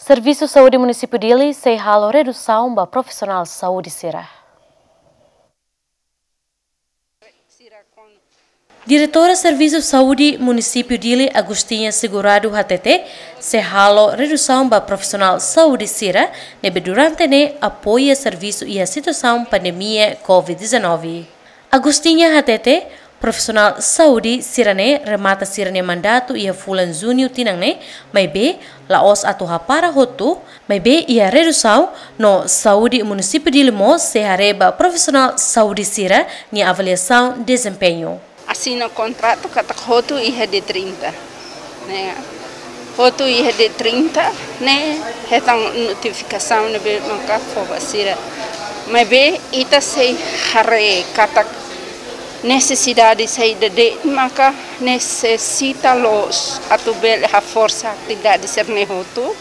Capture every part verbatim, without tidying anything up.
Servisu Saúde Munisípiu Dili sei halo redusaun ba profisionál saúde sira. Diretora Servisu Saúde Munisípiu Dili, Agostinha Segurado, hatete sei halo redusaun ba profisionál saúde sira ne'ebé durante ne'e apoia servisu iha situasaun pandemia covid dezanove. Agostinha hatete, profisionál saúde sira-ne'e remata sira-nia mandatu iha fulan Juñu tinan ne'e, maibé la'ós atu hapara hotu, maibé iha redusaun no Saúde Munisípiu Dili mós sei haree ba profisionál saúde sira-nia avaliasaun dezempeñu. Asina kontratu katak hotu iha dia trinta. Ne'e, hotu iha dia trinta ne'e hetan notifikasaun ne'ebé maka fó ba sira. Maibé ita sei haree katak nesesidade saida de'it maka nesesita loos atu bele haforsa atividade sira-ne'e hotu.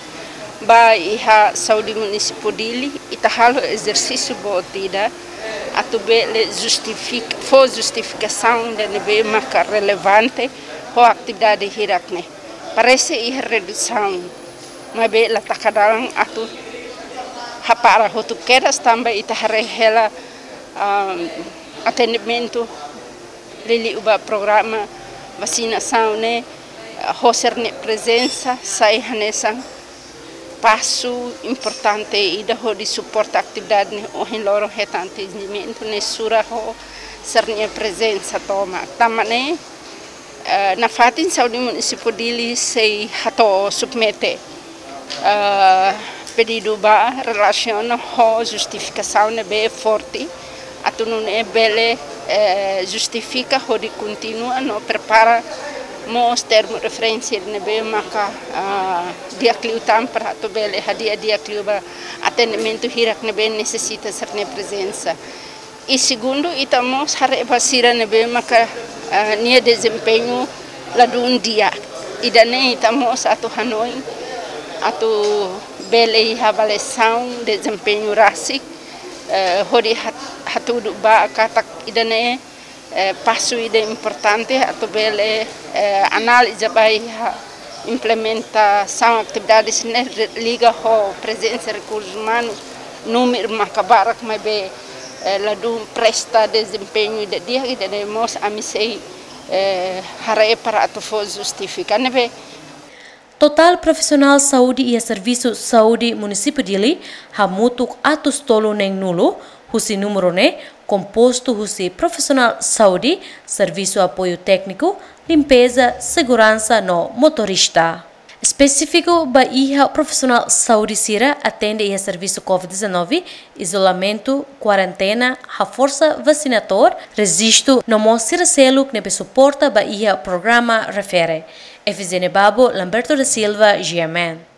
Ba iha Saúde Munisípiu Dili, ita halo ezersísiu boot ida atu bele justifika, fó justifikasaun ida ne'ebé maka relevante ho atividade hirak-ne'e. Parese iha redusaun, maibé la taka dalan atu hapara hotu kedas tanba ita haree hela, ah, atendimentu liuliu ba programa vasinasaun ne'e, ah, ho sira-nia prezensa sai hanesan pasu importante ida hodi suporta atividade ne'e. Ohin loron hetan atendimentu ne'e sura ho sira-nia prezensa tomak. Tanba ne'e, eh, nafatin Saúde Munisípiu Dili sei hato'o submete, eh, pedidu ba relasiona ho justifikasaun ne'ebé forte atu nune'e bele, eh, justifika hodi kontinua no prepara mós termu referénsia ne'ebé maka, ah, di'ak liután para atu bele hadi'a di'ak liu ba atendimentu hirak ne'ebé nesesita sira-nia prezensa. I segundu, ita mós haree ba sira ne'ebé maka, ah, nia dezempeñu ladún di'ak. Ida-ne'e ita mós atu hanoin atu bele iha avaliasaun dezempeñu rasik, eh, hodi hat-, hatudu ba katak ida-ne'e, eh, pasu ida importante atu bele, eh, analiza ba iha implementasaun atividade sira-ne'e re-, liga ho prezensa rekursu umanu, númeru maka barak maibé, eh, ladún presta dezempeñu ida di'ak, ida-ne'e mós ami sei, eh, haree para atu fó justifika ne'ebé. Totál profisionál saúde iha Servisu Saúde Munisípiu Dili hamutuk atus tolu neen-nulu, husi númeru ne'e kompostu husi profisionál saúde, servisu apoiu tékniku, limpeza, seguransa no motorista. Espesífiku ba iha profisionál saúde sira atende iha servisu covid dezanove, izolamentu, kuarentena, haforsa vasinatór, rejistu no mós sira seluk ne'ebé suporta ba iha programa refere. Efizene Babo, Lamberto da Silva, G M N.